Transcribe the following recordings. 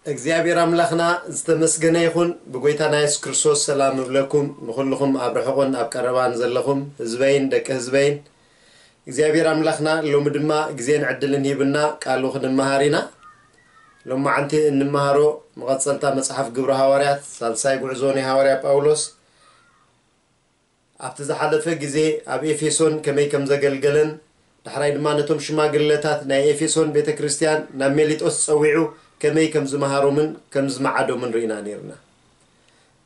እግዚኣብሔር ኣምላኽና ዝተመስገነ ይኹን። ብጎይታና የሱስ ክርስቶስ ሰላም እብለኩም፣ ንኹልኹም ኣብ ርሑቕን ኣብ ቀረባን ዘለኹም ህዝበይን ደቂ ህዝበይን። እግዚኣብሔር ኣምላኽና ሎሚ ድማ ግዜን ዕድልን ሂብና ቃሉ ክንመሃር ኢና። ሎማዓንቲ እንመሃሮ መቐጸልታ መጽሓፍ ግብሪ ሃዋርያት፣ ሳልሳይ ጉዕዞ ናይ ሃዋርያ ጳውሎስ፣ ኣብቲ ዝሓለፈ ግዜ ኣብ ኤፌሶን ከመይ ከም ዘገልገለን፣ ዳሕራይ ድማ ነቶም ሽማግለታት ናይ ኤፌሶን ቤተ ክርስቲያን ናብ ሜሊጦስ ጸዊዑ ከመይ ከም ዝመሃሮምን ከም ዝመዓዶምን ርኢና ነይርና።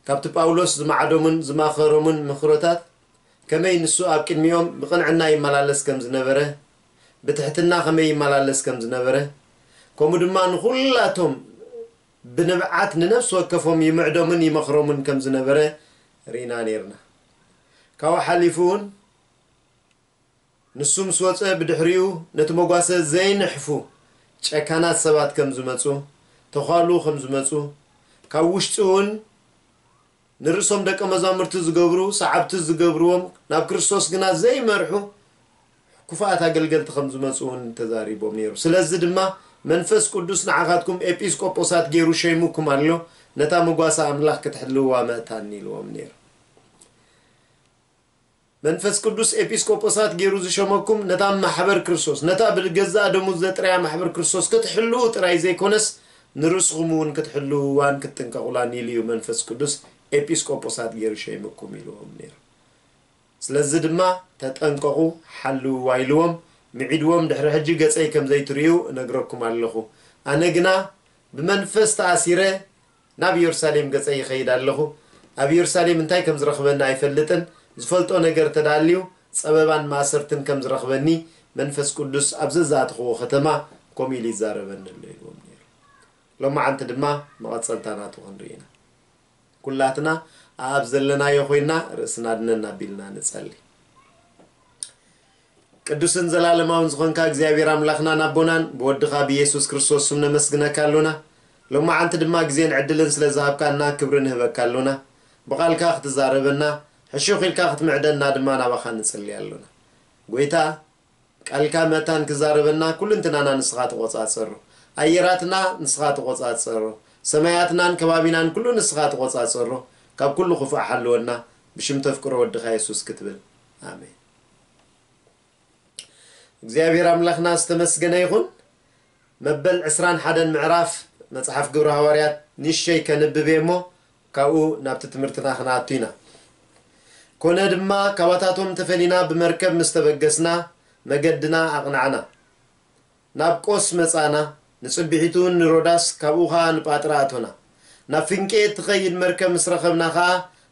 ካብቲ ጳውሎስ ዝመዓዶምን ዝማኸሮምን ምኽሮታት፣ ከመይ ንሱ ኣብ ቅድሚኦም ብቕንዕና ይመላለስ ከም ዝነበረ፣ ብትሕትና ከመይ ይመላለስ ከም ዝነበረ፣ ከምኡ ድማ ንኹላቶም ብንብዓት ንነፍሲ ወከፎም ይምዕዶምን ይመኽሮምን ከም ዝነበረ ርኢና ነይርና። ካብኡ ሓሊፉ እውን ንሱ ምስ ወጸ ብድሕሪኡ ነቲ መጓሰ ዘይንሕፉ ጨካናት ሰባት ከም ዝመጹ፣ ተዃሉ ከም ዝመጹ፣ ካብ ውሽጢ እውን ንርእሶም ደቀ መዛሙርቲ ዝገብሩ፣ ሰዓብቲ ዝገብርዎም፣ ናብ ክርስቶስ ግና ዘይመርሑ ክፉኣት ኣገልገልቲ ከም ዝመጹ እውን ተዛሪቦም ነይሩ። ስለዚ ድማ መንፈስ ቅዱስ ንዓኻትኩም ኤጲስቆጶሳት ገይሩ ሸይሙኩም ኣሎ፣ ነታ መጓሰ ኣምላኽ ክትሕልውዋ መእታኒ ኢልዎም ነይሩ። መንፈስ ቅዱስ ኤጲስቆጶሳት ገይሩ ዝሸመኩም ነታ ማሕበር ክርስቶስ፣ ነታ ብገዛእ ደሙ ዘጥረያ ማሕበር ክርስቶስ ክትሕልዉ ጥራይ ዘይኮነስ ንርእስኹም እውን ክትሕልውዋን ክትጥንቀቑላን ኢሉ እዩ መንፈስ ቅዱስ ኤጲስቆጶሳት ገይሩ ሸይሙኩም ኢልዎም ነይሩ። ስለዚ ድማ ተጠንቀቑ፣ ሓልውዋ ኢልዎም፣ ምዒድዎም፣ ድሕሪ ሕጂ ገጸይ ከም ዘይትርእዩ እነግረኩም ኣለኹ። ኣነ ግና ብመንፈስ ተኣሲረ ናብ ኢየሩሳሌም ገጸይ ይኸይድ ኣለኹ። ኣብ ኢየሩሳሌም እንታይ ከም ዝረኽበኒ ኣይፈልጥን። ዝፈልጦ ነገር ተዳልዩ ጸበባን ማእሰርትን ከም ዝረኽበኒ መንፈስ ቅዱስ ኣብ ዘዛእትኽዎ ከተማ ከምኡ ኢሉ ይዛረበኒ ኣሎ ኢልዎም ነይሩ። ሎማዓንቲ ድማ መቐጸልታ ናቱ ክንርኢ ኢና። ኩላትና ኣብ ዘለናዮ ኮይና ርእስና ድነን ኣቢልና ንጸሊ። ቅዱስን ዘላለማውን ዝኾንካ እግዚኣብሔር ኣምላኽናን ኣቦናን ብወድኻ ብኢየሱስ ክርስቶስ ስም ነመስግነካ ኣሎና። ሎማዓንቲ ድማ ግዜን ዕድልን ስለ ዝሃብካና ክብሪ ንህበካ ኣሎና። ብቓልካ ክትዛረበና፣ ሕሹኽ ኢልካ ክትምዕደና ድማ ናባኻ ንጽሊ ኣሎና። ጎይታ፣ ቃልካ መታን ክዛረበና ኩልንትናና ንስኻ ተቖጻጸሮ። ኣየራትና ንስኻ ተቖጻጸሮ። ሰማያትናን ከባቢናን ኩሉ ንስኻ ተቖጻጸሮ። ካብ ኩሉ ክፉእ ሓልወና፣ ብሽም ተፍቅሮ ወድኻ የሱስ ክትብል። ኣሜን። እግዚኣብሔር ኣምላኽና ዝተመስገነ ይኹን። መበል ዕስራን ሓደን ምዕራፍ መጽሓፍ ግብሪ ሃዋርያት ንእሽተይ ከንብብ እየ እሞ፣ ካብኡ ናብቲ ትምህርትና ክንኣቱ ኢና። ኮነ ድማ፣ ካባታቶም ተፈሊና ብመርከብ ምስ ተበገስና፣ መገድና ኣቕናዕና። ናብ ቆስ መጻና፣ ንጽቢሒቱ ንሮዳስ፣ ካብኡ ኸኣ ንጳጥራ ኣቶና። ናብ ፍንቄ እትኸይድ መርከብ ምስ ረኸብና ኸኣ፣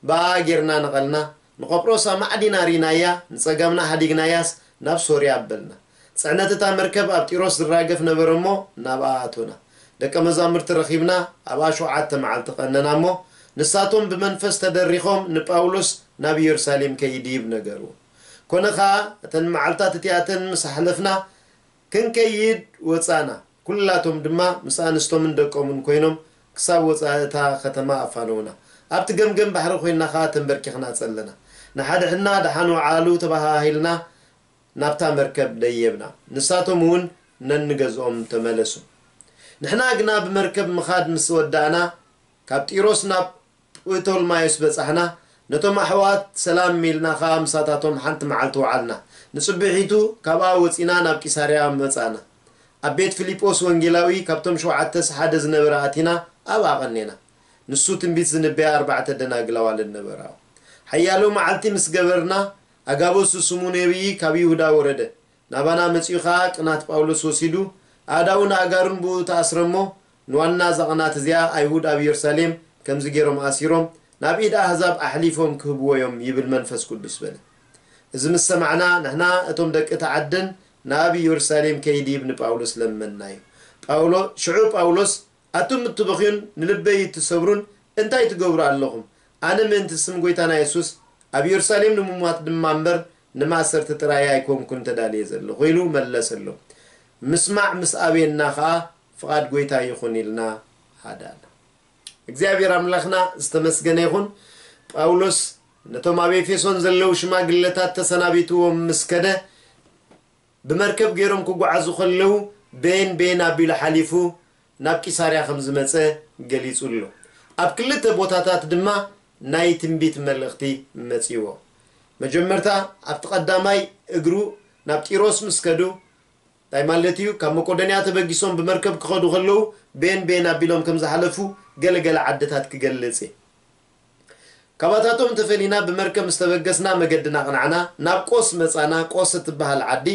ብኣ ጌርና ነቐልና። ንቆጵሮስ ኣማዕዲና ርኢናያ፣ ንጸጋምና ሓዲግናያስ፣ ናብ ሶርያ ኣበልና። ጽዕነት እታ መርከብ ኣብ ጢሮስ ዝራገፍ ነበረ እሞ፣ ናብኣ ኣቶና። ደቀ መዛሙርቲ ረኺብና፣ ኣብኣ ሸውዓተ መዓልቲ ቀነና እሞ፣ ንሳቶም ብመንፈስ ተደሪኾም ንጳውሎስ ናብ ኢየሩሳሌም ከይድይብ ነገርዎ። ኮነ ኸኣ፣ እተን መዓልታት እቲኣተን ምስ ኣሕለፍና፣ ክንከይድ ወጻና። ኩላቶም ድማ ምስ ኣንስቶምን ደቆምን ኮይኖም ክሳብ ወጻኢ እታ ከተማ ኣፋነዉና። ኣብቲ ገምገም ባሕሪ ኮይንና ኸኣ ተንበርኪኽና ጸለና። ንሓድሕድና ደሓን ወዓሉ ተባሃሂልና ናብታ መርከብ ደየብና። ንሳቶም እውን ነንገዝኦም ተመለሱ። ንሕና ግና ብመርከብ ምኻድ ምስ ወዳእና፣ ካብ ጢሮስ ናብ ጵቶልማዮስ በጻሕና። ነቶም ኣሕዋት ሰላም ኢልና ኸኣ ምሳታቶም ሓንቲ መዓልቲ ወዓልና። ንጽብሒቱ ካብኣ ወጺና ናብ ቂሳርያ መጻእና። ኣብ ቤት ፊልጶስ ወንጌላዊ ካብቶም ሸውዓተስ ሓደ ዝነበረ ኣቲና ኣብኣ ቐኔና። ንሱ ትንቢት ዝንበያ ኣርባዕተ ደናግል ኣዋልድ ነበራ። ሓያሎ መዓልቲ ምስ ገበርና፣ ኣጋቦስ ዝስሙ ነቢዪ ካብ ይሁዳ ወረደ። ናባና መጺኡ ኸኣ ቅናት ጳውሎስ ወሲዱ፣ ኣእዳውን ኣእጋሩን ብኡ ተኣስረ እሞ፣ ንዋና እዛ ቅናት እዚኣ ኣይሁድ ኣብ ኢየሩሳሌም ከምዚ ገይሮም ኣሲሮም፣ ናብ ኢድ ኣህዛብ ኣሕሊፎም ክህብዎ እዮም ይብል መንፈስ ቅዱስ በለ። እዚ ምስ ሰማዕና፣ ንሕና እቶም ደቂ እቲ ዓድን ናብ ኢየሩሳሌም ከይድይብ ንጳውሎስ ለመንናዮ። ጳውሎ-፣ ሽዑ ጳውሎስ፣ ኣቱም እትበኽዩን ንልበይ እትሰብሩን እንታይ ትገብሩ ኣለኹም? ኣነ ምእንቲ ስም ጐይታና የሱስ ኣብ ኢየሩሳሌም ንምሟት ድማ እምበር ንማእሰርቲ ጥራይ ኣይኮንኩን ተዳልየ ዘለኹ ኢሉ መለሰሎም። ምስማዕ ምስ ኣበየና ኸኣ ፍቓድ ጐይታ ይኹን ኢልና ሃዳና። እግዚኣብሔር ኣምላኽና ዝተመስገነ ይኹን። ጳውሎስ ነቶም ኣብ ኤፌሶን ዘለዉ ሽማግለታት ተሰናቢትዎም ምስ ከደ፣ ብመርከብ ገይሮም ክጓዓዙ ከለዉ በየን በየን ኣቢሉ ሓሊፉ ናብ ቂሳርያ ከም ዝመጸ ገሊጹ ኣሎ። ኣብ ክልተ ቦታታት ድማ ናይ ትንቢት መልእኽቲ መጺዎ። መጀመርታ ኣብቲ ቀዳማይ እግሩ ናብ ጢሮስ ምስ ከዱ፣ እንታይ ማለት እዩ? ካብ መቄዶንያ ተበጊሶም ብመርከብ ክኸዱ ከለዉ ቤን ቤን ኣቢሎም ከም ዝሓለፉ ገለ ገለ ዓድታት ክገልጽ እየ። ካባታቶም ተፈሊና ብመርከብ ምስ ተበገስና መገድና ኣቕናዕና፣ ናብ ቆስ መጻና፣ ቆስ እትበሃል ዓዲ።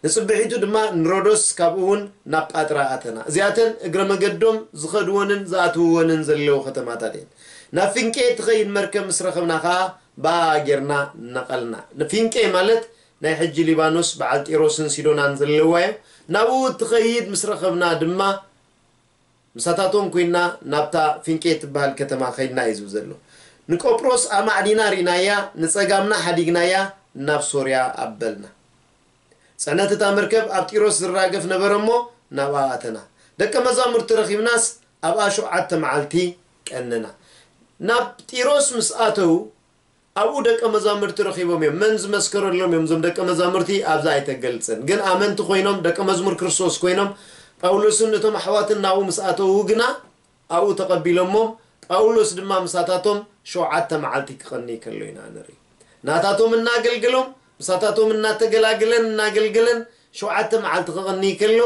ንጽብሒቱ ድማ ንሮዶስ፣ ካብኡ እውን ናብ ጳጥራ ኣተና። እዚኣተን እግረ መገዶም ዝኸድወንን ዝኣትውወንን ዘለዉ ከተማታት እየን። ናብ ፊንቄ እትኸይድ መርከብ ምስ ረኸብና ኸኣ ብኣ ጌርና ነቐልና። ንፊንቄ ማለት ናይ ሕጂ ሊባኖስ በዓል ጢሮስን ሲዶናን ዘለዋ እዮ። ናብኡ እትኸይድ ምስ ረኸብና ድማ ምሳታቶም ኮይና ናብታ ፊንቄ እትበሃል ከተማ ኸይድና እዩ ዝብል ዘሎ። ንቆጵሮስ ኣማዕዲና ርኢናያ፣ ንጸጋምና ሓዲግናያ፣ ናብ ሶርያ ኣበልና። ጽዕነት እታ መርከብ ኣብ ጢሮስ ዝራገፍ ነበረ እሞ ናብኣ ኣተና። ደቀ መዛሙርቲ ረኺብናስ ኣብኣ ሸውዓተ መዓልቲ ቀነና። ናብ ጢሮስ ምስ ኣተዉ ኣብኡ ደቀ መዛሙርቲ ረኺቦም እዮም። መን ዝመስከረሎም እዮም? እዞም ደቀ መዛሙርቲ ኣብዛ ኣይተገልጽን። ግን ኣመንቲ ኮይኖም፣ ደቀ መዝሙር ክርስቶስ ኮይኖም፣ ጳውሎስን እቶም ኣሕዋትን ናብኡ ምስ ኣተዉ ግና ኣብኡ ተቐቢሎሞም። ጳውሎስ ድማ ምሳታቶም ሸውዓተ መዓልቲ ክቐኒ ከሎ ኢና ንርኢ። ናታቶም እናገልገሎም፣ ምሳታቶም እናተገላገለን እናገልገለን ሸውዓተ መዓልቲ ክቐኒ ከሎ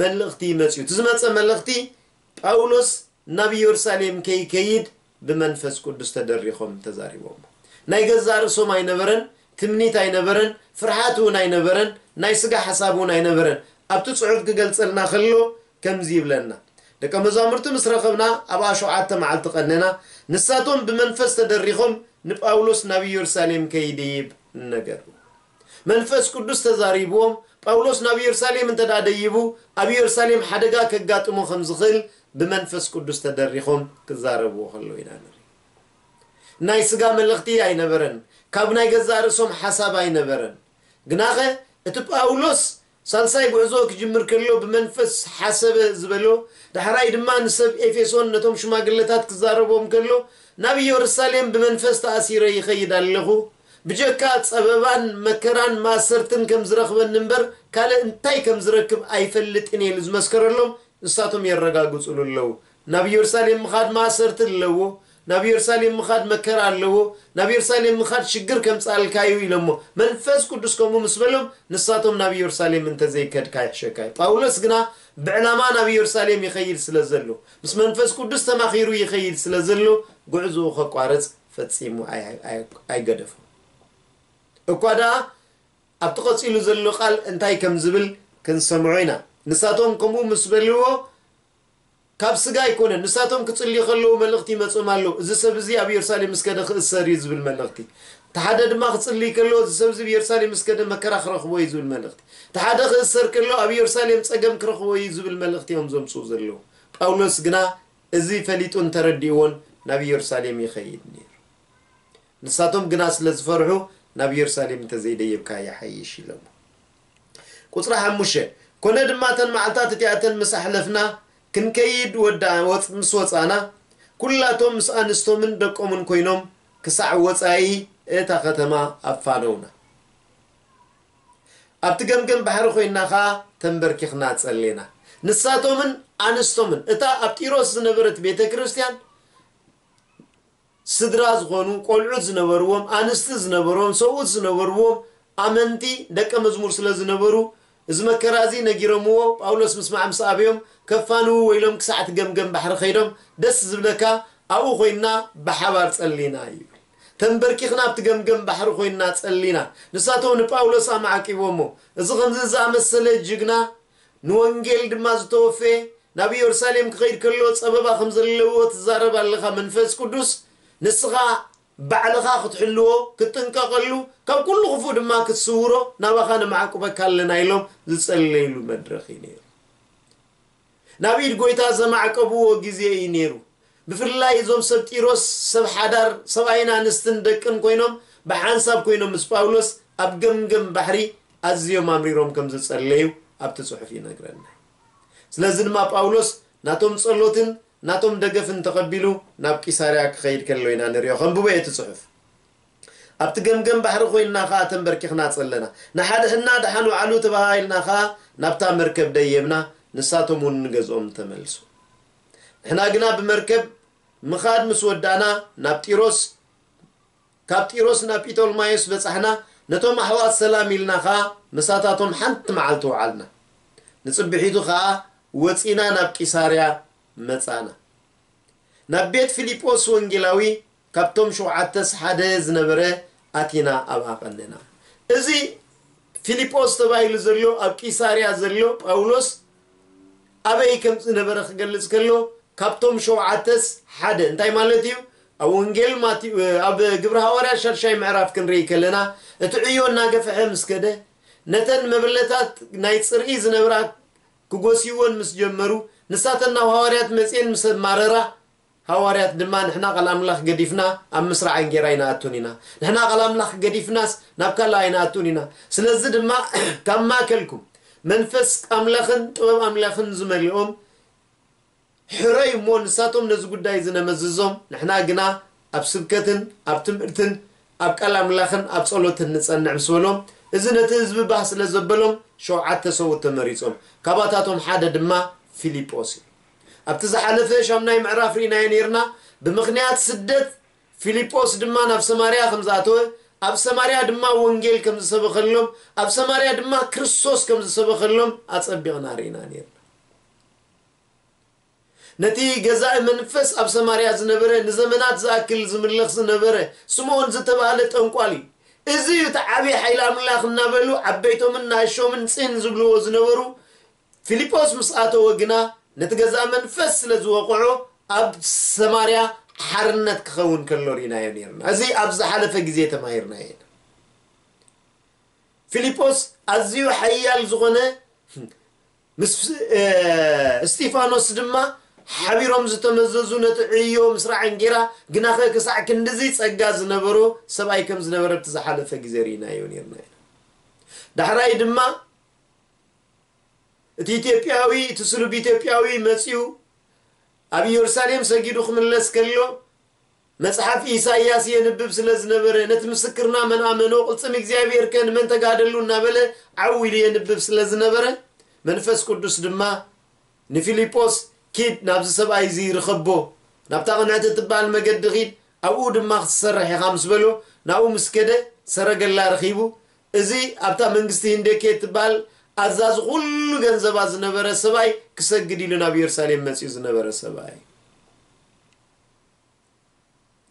መልእኽቲ መጽኡ። እቲ ዝመጸ መልእኽቲ ጳውሎስ ናብ ኢየሩሳሌም ከይከይድ ብመንፈስ ቅዱስ ተደሪኾም ተዛሪቦም። ናይ ገዛእ ርእሶም ኣይነበረን፣ ትምኒት ኣይነበረን፣ ፍርሓት እውን ኣይነበረን፣ ናይ ስጋ ሓሳብ እውን ኣይነበረን። ኣብቲ ጽሑፍ ክገልጸልና ከሎ ከምዚ ይብለና፣ ደቀ መዛሙርቲ ምስ ረኸብና ኣብኣ ሸውዓተ መዓልቲ ቀነና፣ ንሳቶም ብመንፈስ ተደሪኾም ንጳውሎስ ናብ ኢየሩሳሌም ከይድይብ ነገሩ። መንፈስ ቅዱስ ተዛሪብዎም፣ ጳውሎስ ናብ ኢየሩሳሌም እንተ ደኣ ደይቡ፣ ኣብ ኢየሩሳሌም ሓደጋ ከጋጥሞ ከም ዝኽእል ብመንፈስ ቅዱስ ተደሪኾም ክዛረብዎ ከለዉ ኢና ንርኢ። ናይ ስጋ መልእኽቲ ኣይነበረን፣ ካብ ናይ ገዛእ ርእሶም ሓሳብ ኣይነበረን። ግናኸ እቲ ጳውሎስ ሳልሳይ ጉዕዞ ክጅምር ከሎ ብመንፈስ ሓሰበ ዝበሎ፣ ዳሕራይ ድማ ንሰብ ኤፌሶን ነቶም ሽማግለታት ክዛረቦም ከሎ ናብ ኢየሩሳሌም ብመንፈስ ተኣሲረ ይኸይድ ኣለኹ፣ ብጀካ ጸበባን መከራን ማእሰርትን ከም ዝረኽበኒ እምበር ካልእ እንታይ ከም ዝረክብ ኣይፈልጥን እየ ኢሉ ዝመስከረሎም ንሳቶም የረጋግጹሉ ኣለዉ። ናብ ኢየሩሳሌም ምኻድ ማእሰርቲ ኣለዎ፣ ናብ ኢየሩሳሌም ምኻድ መከራ ኣለዎ፣ ናብ ኢየሩሳሌም ምኻድ ሽግር ከምጽኣልካ እዩ ኢሎሞ። መንፈስ ቅዱስ ከምኡ ምስ በሎም ንሳቶም ናብ ኢየሩሳሌም እንተዘይከድካ ይሕሸካ እዩ። ጳውሎስ ግና ብዕላማ ናብ ኢየሩሳሌም ይኸይድ ስለ ዘሎ፣ ምስ መንፈስ ቅዱስ ተማኺሩ ይኸይድ ስለ ዘሎ፣ ጉዕዞኡ ከቋርጽ ፈጺሙ ኣይ-፣ ኣይ-፣ ኣይገደፎን። እኳ ደኣ ኣብቲ ቀጺሉ ዘሎ ቃል እንታይ ከም ዝብል ክንሰምዖ ኢና። ንሳቶም ከምኡ ምስ በልዎ፣ ካብ ስጋ ኣይኮነን። ንሳቶም ክጽልዩ ከለዉ መልእኽቲ ይመጾም ኣሎ። እዚ ሰብ እዚ ኣብ ኢየሩሳሌም ምስ ከደ ክእሰር እዩ ዝብል መልእኽቲ። እቲ ሓደ ድማ ክጽልይ ከሎ፣ እዚ ሰብ እዚ ኣብ ኢየሩሳሌም ምስ ከደ መከራ ክረኽቦ እዩ ዝብል መልእኽቲ። እቲ ሓደ ክእሰር ከሎ፣ ኣብ ኢየሩሳሌም ጸገም ክረኽቦ እዩ ዝብል መልእኽቲ እዮም ዘምጽኡ ዘለዉ። ጳውሎስ ግና እዚ ፈሊጡን ተረዲእዎን ናብ ኢየሩሳሌም ይኸይድ ነይሩ። ንሳቶም ግና ስለ ዝፈርሑ፣ ናብ ኢየሩሳሌም እንተዘይደየብካ ይሓይሽ ኢሎሞ። ቁጽሪ ሓሙሽተ፣ ኮነ ድማ እተን መዓልታት እቲኣተን ምስ ኣሕለፍና፣ ክንከይድ ወዳ-፣ ወጽ-፣ ምስ ወጻና፣ ኩላቶም ምስ ኣንስቶምን ደቆምን ኮይኖም ክሳዕ ወጻኢ እታ ከተማ ኣፋነውና። ኣብቲ ገምገም ባሕሪ ኮይንና ኸኣ ተንበርኪኽና ጸሌና። ንሳቶምን ኣንስቶምን፣ እታ ኣብ ጢሮስ ዝነበረት ቤተ ክርስቲያን፣ ስድራ ዝኾኑ፣ ቆልዑት ዝነበርዎም፣ ኣንስቲ ዝነበርዎም፣ ሰብኡት ዝነበርዎም ኣመንቲ ደቀ መዝሙር ስለ ዝነበሩ፣ እዚ መከራ እዚ ነጊሮምዎ፣ ጳውሎስ ምስማዕ ምስ ኣበዮም፣ ከፋንዉ ወይሎም ክሳዕ እቲ ገምገም ባሕሪ ከይዶም፣ ደስ ዝብለካ ኣብኡ ኮይንና ብሓባር ጸሊና ይብል። ተንበርኪኽና ኣብቲ ገምገም ባሕሪ ኮይንና ጸሊና። ንሳቶም ንጳውሎስ ኣማዕቂቦሞ። እዚ ከምዚ ዝኣመሰለ ጅግና፣ ንወንጌል ድማ ዝተወፈየ፣ ናብ ኢየሩሳሌም ክኸይድ ከሎ ጸበባ ከም ዘለዎ ትዛረብ ኣለኻ። መንፈስ ቅዱስ ንስኻ ባዕልኻ ክትሕልዎ፣ ክትጥንቀቐሉ፣ ካብ ኩሉ ክፉእ ድማ ክትስውሮ ናባኻ ነማዕቁበካ ኣለና ኢሎም ዝጸለይሉ መድረኽ እዩ ነይሩ። ናብ ኢድ ጎይታ ዘማዕቀብዎ ግዜ እዩ ነይሩ። ብፍላይ እዞም ሰብ ጢሮስ ሰብ ሓዳር ሰብኣይን ኣንስትን ደቅን ኮይኖም ብሓንሳብ ኮይኖም ምስ ጳውሎስ ኣብ ገምገም ባሕሪ ኣዝዮም ኣምሪሮም ከም ዝጸለዩ ኣብቲ ጽሑፍ ይነግረና። ስለዚ ድማ ጳውሎስ ናቶም ጸሎትን ናቶም ደገፍን ተቐቢሉ ናብ ቂሳርያ ክኸይድ ከሎ ኢና ንሪኦ። ከንብቦ እቲ ጽሑፍ። ኣብቲ ገምገም ባሕሪ ኮይንና ኸኣ ተንበርኪኽና ጸለና። ንሓድሕድና ደሓን ውዓሉ ተባሃሂልና ኸኣ ናብታ መርከብ ደየብና፣ ንሳቶም እውን ንገዝኦም ተመልሱ። ንሕና ግና ብመርከብ ምኻድ ምስ ወዳእና ናብ ጢሮስ፣ ካብ ጢሮስ ናብ ጲቶልማዮስ በጻሕና። ነቶም ኣሕዋት ሰላም ኢልና ኸኣ ምሳታቶም ሓንቲ መዓልቲ ወዓልና። ንጽብሒቱ ኸኣ ወጺና ናብ ቂሳርያ መጻና። ናብ ቤት ፊልጶስ ወንጌላዊ ካብቶም ሸውዓተስ ሓደ ዝነበረ ኣቲና ኣብኣ ቀነና። እዚ ፊልጶስ ተባሂሉ ዘሎ ኣብ ቂሳርያ ዘሎ ጳውሎስ ኣበይ ከም ዝነበረ ክገልጽ ከሎ ካብቶም ሸውዓተስ ሓደ እንታይ ማለት እዩ? ኣብ ወንጌል ማቴዎ ኣብ ግብሪ ሃዋርያ ሻድሻይ ምዕራፍ ክንርኢ ከለና እቲ ዕዮ እናገፍሐ ምስ ከደ ነተን መበለታት ናይ ጽርኢ ዝነብራ ክጎስይወን ምስ ጀመሩ ንሳተን ናብ ሃዋርያት መጽኤን ምስ ኣማረራ ሃዋርያት ድማ ንሕና ቃል ኣምላኽ ገዲፍና ኣብ ምስራዕ እንጌራ ኣይንኣቱን ኢና። ንሕና ቃል ኣምላኽ ገዲፍናስ ናብ ካልእ ኣይንኣቱን ኢና። ስለዚ ድማ ካብ ማእከልኩም መንፈስ ኣምላኽን ጥበብ ኣምላኽን ዝመልኦም ሕረዩ እሞ ንሳቶም ነዚ ጉዳይ እዚ ነመዝዞም፣ ንሕና ግና ኣብ ስብከትን ኣብ ትምህርትን ኣብ ቃል ኣምላኽን ኣብ ጸሎትን ንጸንዕ ምስ በሎም፣ እዚ ነቲ ህዝቢ ባህ ስለ ዘበሎም ሸውዓተ ሰብኡት ተመሪጾም። ካባታቶም ሓደ ድማ ፊልጶስ እዩ። ኣብቲ ዝሓለፈ ሻምናይ ምዕራፍ ርኢናዮ ነይርና። ብምኽንያት ስደት ፊልጶስ ድማ ናብ ሰማርያ ከም ዝኣተወ፣ ኣብ ሰማርያ ድማ ወንጌል ከም ዝሰበኸሎም፣ ኣብ ሰማርያ ድማ ክርስቶስ ከም ዝሰበኸሎም ኣጸቢቕና ርኢና ነይርና። ነቲ ገዛኢ መንፈስ ኣብ ሰማርያ ዝነበረ ንዘመናት ዝኣክል ዝምልኽ ዝነበረ ስምዖን ዝተባህለ ጠንቋሊ፣ እዚ እዩ እቲ ዓብዪ ሓይሊ ኣምላኽ እናበሉ ዓበይቶምን ንኣሾምን ጽን ዝብልዎ ዝነበሩ ፊልጶስ ምስ ኣተወ ግና ነቲ ገዛኢ መንፈስ ስለ ዝወቕዖ ኣብ ሰማርያ ሓርነት ክኸውን ከሎ ርኢናዮ ነይርና። እዚ ኣብ ዝሓለፈ ግዜ ተማሂርናዮ ኢና። ፊልጶስ ኣዝዩ ሓያል ዝኾነ ምስ እስጢፋኖስ ድማ ሓቢሮም ዝተመዘዙ ነቲ ዕዮ ምስራዕ እንጌራ ግናኸ ክሳዕ ክንድዚ ጸጋ ዝነበሮ ሰብኣይ ከም ዝነበረ ኣብቲ ዝሓለፈ ግዜ ርኢናዮ ነርና ኢና። ዳሕራይ ድማ እቲ ኢትዮጵያዊ እቲ ስሉብ ኢትዮጵያዊ መጺኡ ኣብ ኢየሩሳሌም ሰጊዱ ክምለስ ከሎ መጽሓፍ ኢሳይያስ የንብብ ስለ ዝነበረ፣ ነቲ ምስክርና መን ኣመኖ፣ ቅልጽም እግዚኣብሔር ከ ንመን ተጋደሉ እናበለ ዓው ኢሉ የንብብ ስለ ዝነበረ፣ መንፈስ ቅዱስ ድማ ንፊልጶስ፣ "ኪድ ናብዚ ሰብኣይ እዚ ርኸቦ፣ ናብታ ቅንዕቲ እትበሃል መገዲ ኺድ፣ ኣብኡ ድማ ክትሰርሕ ኢኻ" ምስ በሎ፣ ናብኡ ምስ ከደ ሰረገላ ረኺቡ። እዚ ኣብታ መንግስቲ ህንደኬ እትበሃል ኣዛዚ ኩሉ ገንዘባ ዝነበረ ሰብኣይ ክሰግድ ኢሉ ናብ ኢየሩሳሌም መጺኡ ዝነበረ ሰብኣይ።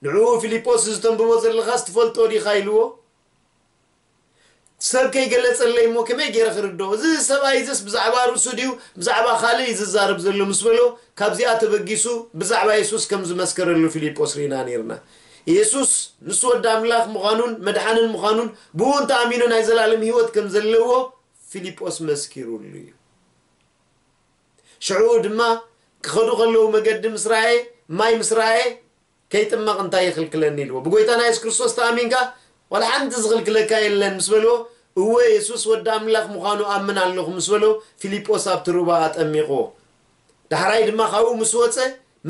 ንዕኡ ፊልጶስ፣ "እዚ ተንብቦ ዘለኻስ ትፈልጦ ዲኻ?" ኢልዎ። "ሰብ ከይገለጸለይ እሞ ከመይ ገይረ ክርድኦ? እዚ ሰብኣይ እዚስ ብዛዕባ ርእሱ ድዩ ብዛዕባ ካልእ እዩ ዝዛረብ ዘሎ?" ምስ በሎ፣ ካብዚኣ ተበጊሱ ብዛዕባ የሱስ ከም ዝመስከረሉ ፊልጶስ ርኢና ነይርና። የሱስ ንሱ ወዲ ኣምላኽ ምዃኑን መድሓንን ምዃኑን ብኡ እንተኣሚኑ ናይ ዘላለም ህይወት ከም ዘለዎ ፊልጶስ መስኪሩሉ እዩ። ሽዑ ድማ ክኸዱ ከለዉ መገዲ ምስ ረኣየ፣ ማይ ምስ ረኣየ፣ "ከይጥመቕ እንታይ ይኽልክለኒ?" ኢልዎ። "ብጎይታና የሱስ ክርስቶስ ተኣሚንካ ዋላ ሓንቲ ዝኽልክለካ የለን" ምስ በልዎ፣ "እወ፣ የሱስ ወዲ ኣምላኽ ምዃኑ ኣምን ኣለኹ" ምስ በሎ፣ ፊልጶስ ኣብቲ ሩባ ኣጠሚቕዎ። ዳሕራይ ድማ ካብኡ ምስ ወጸ፣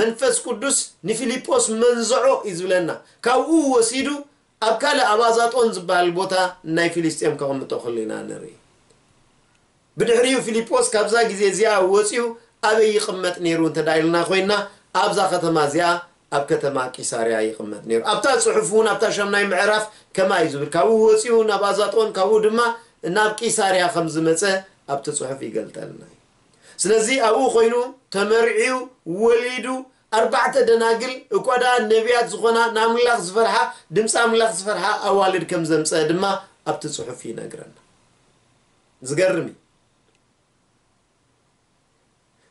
መንፈስ ቅዱስ ንፊልጶስ መንዝዖ እዩ ዝብለና። ካብኡ ወሲዱ ኣብ ካልእ ኣብ ኣዛጦን ዝበሃል ቦታ ናይ ፊልስጤም ከቕምጦ ከሎ ኢና ንርኢ። ብድሕሪኡ ፊልጶስ ካብዛ ግዜ እዚኣ ወጺኡ ኣበይ ይቕመጥ ነይሩ እንተ ደኣ ኢልና ኮይንና፣ ኣብዛ ከተማ እዚኣ፣ ኣብ ከተማ ቂሳርያ ይቕመጥ ነይሩ። ኣብታ ጽሑፍ እውን፣ ኣብታ ሻምናይ ምዕራፍ ከምኣ እዩ ዝብል። ካብኡ ወጺኡ ናብ ኣዛጦን፣ ካብኡ ድማ ናብ ቂሳርያ ከም ዝመጸ ኣብቲ ጽሑፍ ይገልጠልና እዩ። ስለዚ ኣብኡ ኮይኑ ተመርዕዩ፣ ወሊዱ፣ ኣርባዕተ ደናግል፣ እኳ ደኣ ነቢያት ዝኾና፣ ንኣምላኽ ዝፈርሓ፣ ድምፂ ኣምላኽ ዝፈርሓ ኣዋልድ ከም ዘምጸአ ድማ ኣብቲ ጽሑፍ ይነግረና። ዝገርም እዩ።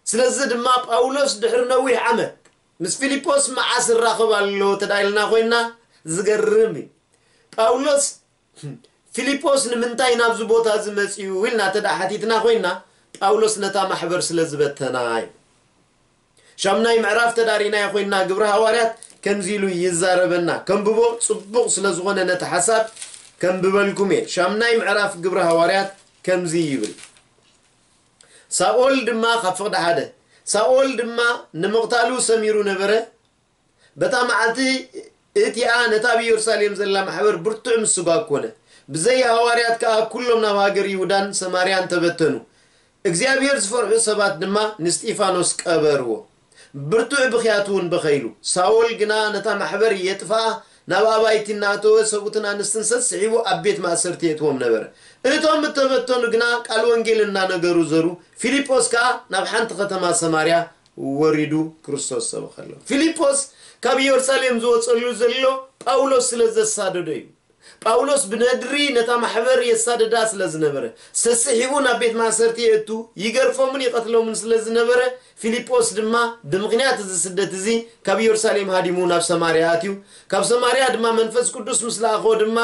ስለዚ ድማ ጳውሎስ ድሕሪ ነዊሕ ዓመት ምስ ፊልጶስ መዓስ ይራኸብ ኣሎ እንተ ደኣ ኢልና ኮይንና፣ ዝገርም እዩ። ጳውሎስ፣ "ፊልጶስ ንምንታይ ናብዚ ቦታ እዚ መጺኡ?" ኢልና እንተ ደኣ ሓቲትና ኮይንና፣ ጳውሎስ ነታ ማሕበር ስለ ዝበተና እዩ። ሻምናይ ምዕራፍ ተዳሪናዮ ኮይንና፣ ግብሪ ሃዋርያት ከምዚ ኢሉ ይዛረበና። ከንብቦ ጽቡቕ ስለ ዝኾነ ነቲ ሓሳብ ከንብበልኩም እየ። ሻምናይ ምዕራፍ ግብሪ ሃዋርያት ከምዚ ይብል። ሳኦል ድማ፣ ካብ ፍቕዲ ሓደ፣ ሳኦል ድማ ንምቕታሉ ሰሚሩ ነበረ። በታ መዓልቲ እቲኣ ነታ ኣብ ኢየሩሳሌም ዘላ ማሕበር ብርቱዕ ምስጓግ ኮነ። ብዘይ ሃዋርያት ከኣ ኩሎም ናብ ሃገር ይሁዳን ሰማርያን ተበተኑ። እግዚኣብሔር ዝፈርሑ ሰባት ድማ ንስጢፋኖስ ቀበርዎ። ብርቱዕ ብኽያት እውን በኸይሉ። ሳውል ግና ነታ ማሕበር የጥፍኣ፣ ናብ ኣባይቲ እናእተወ ሰብኡትን ኣንስትን ሰስሒቡ ኣብ ቤት ማእሰርቲ የእትዎም ነበረ። እቶም እተበተኑ ግና ቃል ወንጌል እናነገሩ ዘሩ። ፊልጶስ ከኣ ናብ ሓንቲ ከተማ ሰማርያ ወሪዱ ክርስቶስ ሰበኸሎም። ፊልጶስ ካብ ኢየሩሳሌም ዝወጸሉ ዘሎ ጳውሎስ ስለ ዘሳደዶ እዩ። ጳውሎስ ብነድሪ ነታ ማሕበር የሳድዳ ስለ ዝነበረ፣ ሰስሒቡ ናብ ቤት ማእሰርቲ የእቱ፣ ይገርፎምን ይቐትሎምን ስለ ዝነበረ፣ ፊልጶስ ድማ ብምኽንያት እዚ ስደት እዚ ካብ ኢየሩሳሌም ሃዲሙ ናብ ሰማርያ ኣትዩ። ካብ ሰማርያ ድማ መንፈስ ቅዱስ ምስ ለኣኾ ድማ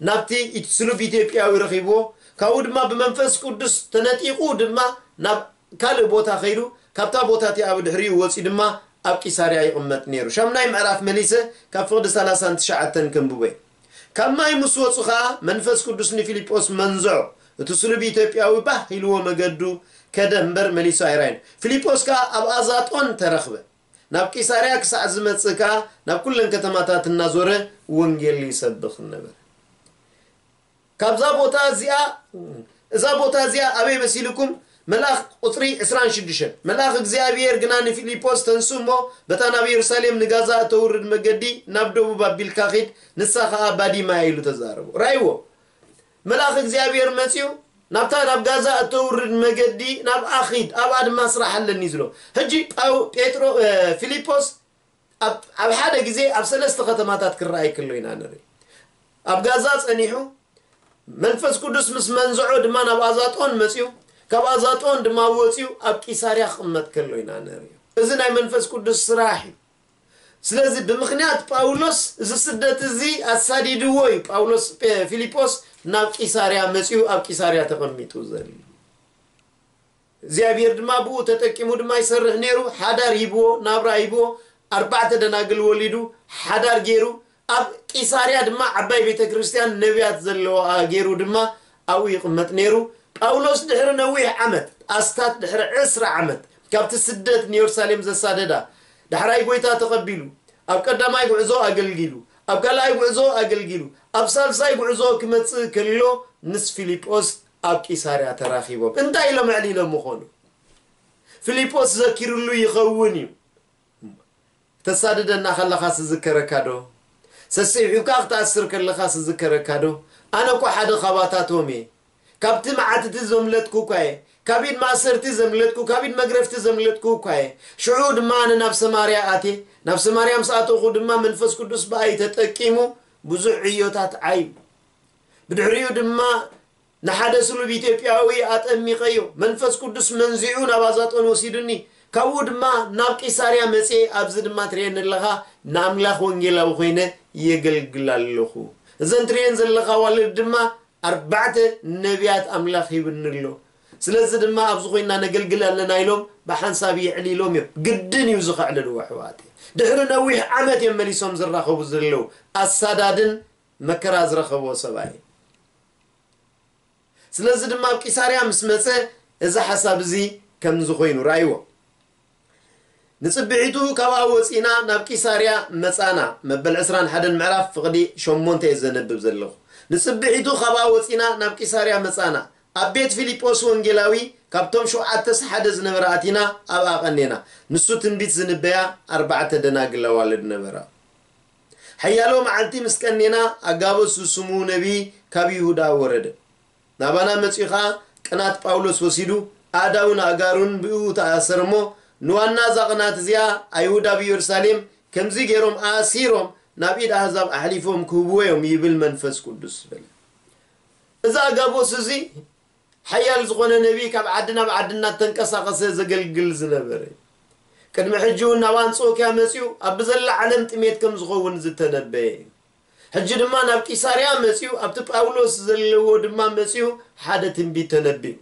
ናብቲ ኢት-፣ ስሉብ ኢትዮጵያዊ ረኺብዎ። ካብኡ ድማ ብመንፈስ ቅዱስ ተነጢቑ ድማ ናብ ካልእ ቦታ ኸይዱ፣ ካብታ ቦታ እቲኣ ብድሕሪኡ ወጺኡ ድማ ኣብ ቂሳርያ ይቕመጥ ነይሩ። ሻምናይ ምዕራፍ መሊሰ ካብ ፍቕዲ ሰላሳን ትሽዓተን ከንብቦ እየ። ካብ ማይ ምስ ወጹ ኸኣ መንፈስ ቅዱስ ንፊልጶስ መንዝዖ። እቲ ስሉብ ኢትዮጵያዊ ባህ ኢልዎ መገዱ ከደ እምበር መሊሱ ኣይራይን። ፊልጶስ ከኣ ኣብ ኣዛጦን ተረኽበ። ናብ ቂሳርያ ክሳዕ ዝመጽእ ከኣ ናብ ኩለን ከተማታት እናዞረ ወንጌል ይሰብኽ ነበረ። ካብዛ ቦታ እዚኣ፣ እዛ ቦታ እዚኣ ኣበይ መሲልኩም? መልኣኽ ቁጽሪ ዕስራን ሽዱሽተን። መልኣኽ እግዚኣብሔር ግና ንፊልጶስ፣ "ተንሱ እሞ በታ ናብ የሩሳሌም ንጋዛ እተውርድ መገዲ ናብ ደቡብ ኣቢልካ ኺድ፣ ንሳ ኸኣ ባዲማ እያ" ኢሉ ተዛረቦ። ራእይዎ። መልኣኽ እግዚኣብሔር መጺኡ፣ "ናብታ ናብ ጋዛ እተውርድ መገዲ ናብኣ ኺድ፣ ኣብኣ ድማ ስራሕ ኣለኒ" ዝሎ። ሕጂ ጳው-፣ ጴጥሮ-፣ እ፣ ፊልጶስ ኣብ፣ ኣብ ሓደ ግዜ ኣብ ሰለስተ ከተማታት ክረኣይ ከሎ ኢና ንርኢ። ኣብ ጋዛ ጸኒሑ፣ መንፈስ ቅዱስ ምስ መንዝዖ ድማ ናብ ኣዛጦን መጺኡ፣ ካብ ኣዛጦን ድማ ወጺኡ ኣብ ቂሳርያ ክቕመጥ ከሎ ኢና ንርኢ። እዚ ናይ መንፈስ ቅዱስ ስራሕ እዩ። ስለዚ ብምኽንያት ጳውሎስ እዚ ስደት እዚ ኣሳዲድዎ እዩ ጳውሎስ፣ ፔ-፣ ፊልጶስ ናብ ቂሳርያ መጺኡ ኣብ ቂሳርያ ተቐሚጡ ዘሎ። እግዚኣብሔር ድማ ብኡ ተጠቂሙ ድማ ይሰርሕ ነይሩ። ሓዳር ሂብዎ፣ ናብራ ሂብዎ፣ ኣርባዕተ ደናግል ወሊዱ፣ ሓዳር ገይሩ፣ ኣብ ቂሳርያ ድማ ዓባይ ቤተ ክርስቲያን ነቢያት ዘለዋ ገይሩ ድማ ኣብኡ ይቕመጥ ነይሩ። ጳውሎስ ድሕሪ ነዊሕ ዓመት፣ ኣስታት ድሕሪ ዕስራ ዓመት፣ ካብቲ ስደት ንየሩሳሌም ዘሳደዳ፣ ዳሕራይ ጐይታ ተቐቢሉ፣ ኣብ ቀዳማይ ጉዕዞ ኣገልጊሉ፣ ኣብ ካልኣይ ጉዕዞ ኣገልጊሉ፣ ኣብ ሳልሳይ ጉዕዞ ክመጽእ ከሎ ምስ ፊልጶስ ኣብ ቂሳርያ ተራኺቦም። እንታይ ኢሎም ኣዕሊሎም ምኾኑ? ፊልጶስ ዘኪርሉ ይኸውን እዩ። ክተሳድደና ከለኻስ ዝከረካ ዶ? ሰሲሒብካ ክትኣስር ከለኻስ ዝከረካ ዶ? ኣነ እኮ ሓደ ካባታቶም እየ። ካብቲ መዓት እቲ ዘምለጥኩ እኳ እየ። ካብ ኢድ ማእሰርቲ ዘምለጥኩ፣ ካብ ኢድ መግረፍቲ ዘምለጥኩ እኳ እየ። ሽዑ ድማ ኣነ ናብ ሰማርያ ኣትየ። ናብ ሰማርያ ምስ ኣተኹ ድማ መንፈስ ቅዱስ ብኣይ ተጠቂሙ ብዙሕ ዕዮታት ዓዩ። ብድሕሪኡ ድማ ንሓደ ስሉብ ኢትዮጵያዊ ኣጠሚቐዮ። መንፈስ ቅዱስ መንዚዑ ናብ ኣዛጦን ወሲዱኒ። ካብኡ ድማ ናብ ቂሳርያ መጽየ። ኣብዚ ድማ ትርእየኒ ኣለኻ፣ ንኣምላኽ ወንጌላዊ ኮይነ የገልግል ኣለኹ። እዘን ትርእየን ዘለኻ ኣዋልድ ድማ ኣርባዕተ ነቢያት ኣምላኽ ሂብኒ ኣሎ። ስለዚ ድማ ኣብዚ ኮይና ነገልግል ኣለና ኢሎም ብሓንሳብ የዕሊሎም እዮም። ግድን እዩ እዚ ከዕልልዎ ኣሕዋተይ። ድሕሪ ነዊሕ ዓመት እዮም መሊሶም ዝራኸቡ ዘለዉ። ኣሳዳድን መከራ ዝረኸቦ ሰብኣይ። ስለዚ ድማ ኣብ ቂሳርያ ምስ መጸ እዚ ሓሳብ እዚ ከምዚ ኮይኑ ረኣይዎ። ንጽብሒቱ ካብኣ ወጺና ናብ ቂሳርያ መጻና። መበል ዕስራን ሓደን ምዕራፍ ፍቕዲ ሸሞንተ እየ ዘንብብ ዘለኹ። ንጽብሒቱ ካብኣ ወጺና ናብ ቂሳርያ መጻና። ኣብ ቤት ፊልጶስ ወንጌላዊ ካብቶም ሸውዓተስ ሓደ ዝነበረ ኣቲና ኣብኣ ቀኔና። ንሱ ትንቢት ዝንበያ ኣርባዕተ ደናግል ኣዋልድ ነበራ። ሓያሎ መዓልቲ ምስ ቀኔና ኣጋቦስ ዝስሙ ነቢይ ካብ ይሁዳ ወረደ። ናባና መጺኡ ኸኣ ቅናት ጳውሎስ ወሲዱ ኣእዳውን ኣእጋሩን ብእኡ ተኣሰረ እሞ ንዋና እዛ ቅናት እዚኣ ኣይሁድ ኣብ ኢየሩሳሌም ከምዚ ገይሮም ኣሲሮም ናብ ኢድ ኣህዛብ ኣሕሊፎም ክህብዎ እዮም ይብል መንፈስ ቅዱስ በለ። እዚ ኣጋቦስ እዚ ሓያል ዝኾነ ነቢይ ካብ ዓዲ ናብ ዓዲ እናተንቀሳቐሰ ዘገልግል ዝነበረ እዩ። ቅድሚ ሕጂ እውን ናብ ኣንጾክያ መጺኡ ኣብ ብዘላ ዓለም ጥሜት ከም ዝኸውን ዝተነበየ እዩ። ሕጂ ድማ ናብ ቂሳርያ መጺኡ ኣብቲ ጳውሎስ ዘለዎ ድማ መጺኡ ሓደ ትንቢት ተነቢዩ።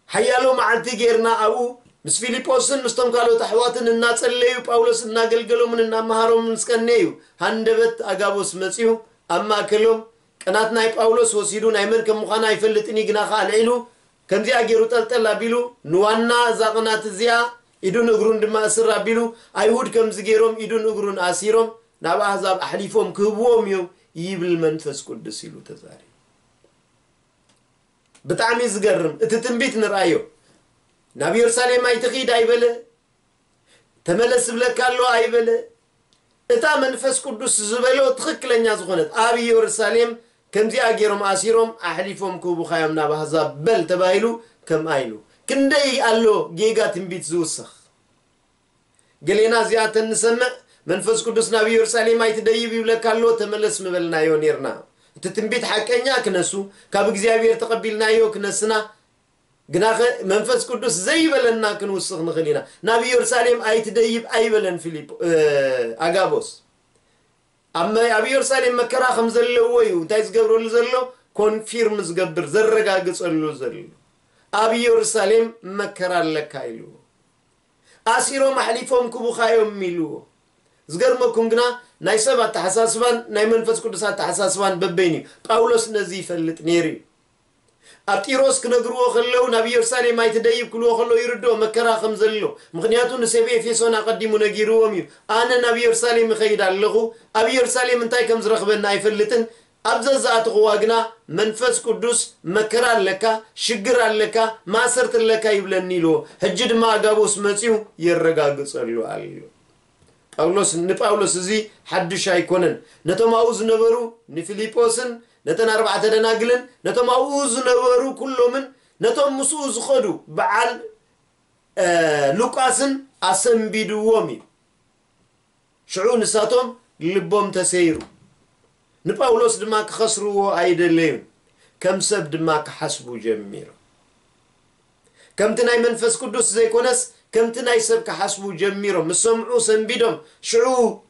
ሓያሎ መዓልቲ ጌርና ኣብኡ ምስ ፊልጶስን ምስቶም ካልኦት ኣሕዋትን እናጸለዩ ጳውሎስ እናገልገሎምን እናመሃሮምን ምስ ቀነዩ ሃንደበት ኣጋቦስ መጺኡ ኣብ ማእከሎም ቅናት ናይ ጳውሎስ ወሲዱ ናይ መን ከም ምዃና ኣይፈልጥን እዩ፣ ግና ኸኣ ኣልዒሉ ከምዚኣ ገይሩ ጠልጠል ኣቢሉ ንዋና እዛ ቅናት እዚኣ ኢዱን እግሩን ድማ እስር ኣቢሉ ኣይሁድ ከምዚ ገይሮም ኢዱን እግሩን ኣሲሮም ናብ ኣህዛብ ኣሕሊፎም ክህብዎም እዮም ይብል መንፈስ ቅዱስ ኢሉ ተዛሪቡ። ብጣዕሚ ዝገርም እቲ ትንቢት ንርኣዮ። ናብ ኢየሩሳሌም ኣይትኺድ ኣይበለ፣ ተመለስ ዝብለካ ኣሎ ኣይበለ። እታ መንፈስ ቅዱስ ዝበሎ ትኽክለኛ ዝኾነት ኣብ ኢየሩሳሌም ከምዚኣ ገይሮም ኣሲሮም ኣሕሊፎም ክህቡኻዮም ናብ ኣህዛብ በል ተባሂሉ ከምኣ ኢሉ። ክንደይ ኣሎ ጌጋ ትንቢት ዝውሰኽ። ገሌና እዚኣተን ንሰምዕ፣ መንፈስ ቅዱስ ናብ ኢየሩሳሌም ኣይትደይብ ይብለካ ኣሎ፣ ተመለስ ምበልናዮ ኔርና። እቲ ትንቢት ሓቀኛ ክነሱ፣ ካብ እግዚኣብሔር ተቐቢልናዮ ክነስና፣ ግናኸ መንፈስ ቅዱስ ዘይበለና ክንውስኽ ንኽእል ኢና። ናብ ኢየሩሳሌም ኣይትደይብ ኣይበለን ፊልጶ-፣ እ፣ ኣጋቦስ። ኣብ መ-፣ ኣብ ኢየሩሳሌም መከራ ከም ዘለዎ እዩ እንታይ ዝገብረሉ ዘሎ? ኮንፊርም ዝገብር፣ ዘረጋግጸሉ ዘሎ። ኣብ ኢየሩሳሌም መከራ ኣለካ ኢሉ። ኣሲሮም ኣሕሊፎም ክቡኻዮም ኢልዎ። ዝገርመኩም ግና ናይ ሰብ ኣተሓሳስባን ናይ መንፈስ ቅዱስ ኣተሓሳስባን በበይን እዩ። ጳውሎስ ነዚ ይፈልጥ ነይሩ እዩ። ኣብ ጢሮስ ክነግርዎ ከለዉ ናብ ኢየሩሳሌም ኣይትደይብ ክልዎ ከለዉ ይርድኦ መከራ ከም ዘሎ። ምኽንያቱ ንሰብ ኤፌሶን ኣቐዲሙ ነጊርዎም እዩ። ኣነ ናብ ኢየሩሳሌም እኸይድ ኣለኹ፣ ኣብ ኢየሩሳሌም እንታይ ከም ዝረኽበኒ ኣይፈልጥን፣ ኣብ ዘዝኣተኽዋ ግና መንፈስ ቅዱስ መከራ ኣለካ፣ ሽግር ኣለካ፣ ማእሰርቲ ኣለካ ይብለኒ ኢልዎ። ሕጂ ድማ ኣጋቦስ መጺኡ የረጋግጸሉ ኣሎ። ጳውሎስ፣ ንጳውሎስ እዚ ሓድሽ ኣይኮነን። ነቶም ኣብኡ ዝነበሩ ንፊልጶስን ነተን ኣርባዕተ ደናግልን ነቶም ኣብኡ ዝነበሩ ኩሎምን ነቶም ምስኡ ዝኸዱ በዓል፣ እ፣ ሉቃስን ኣሰንቢድዎም እዩ። ሽዑ ንሳቶም ልቦም ተሰይሩ። ንጳውሎስ ድማ ክኸስርዎ ኣይደለዩን። ከም ሰብ ድማ ክሓስቡ ጀሚሮም። ከምቲ ናይ መንፈስ ቅዱስ ዘይኮነስ ከምቲ ናይ ሰብ ክሓስቡ ጀሚሮም። ምስ ሰምዑ ሰንቢዶም፣ ሽዑ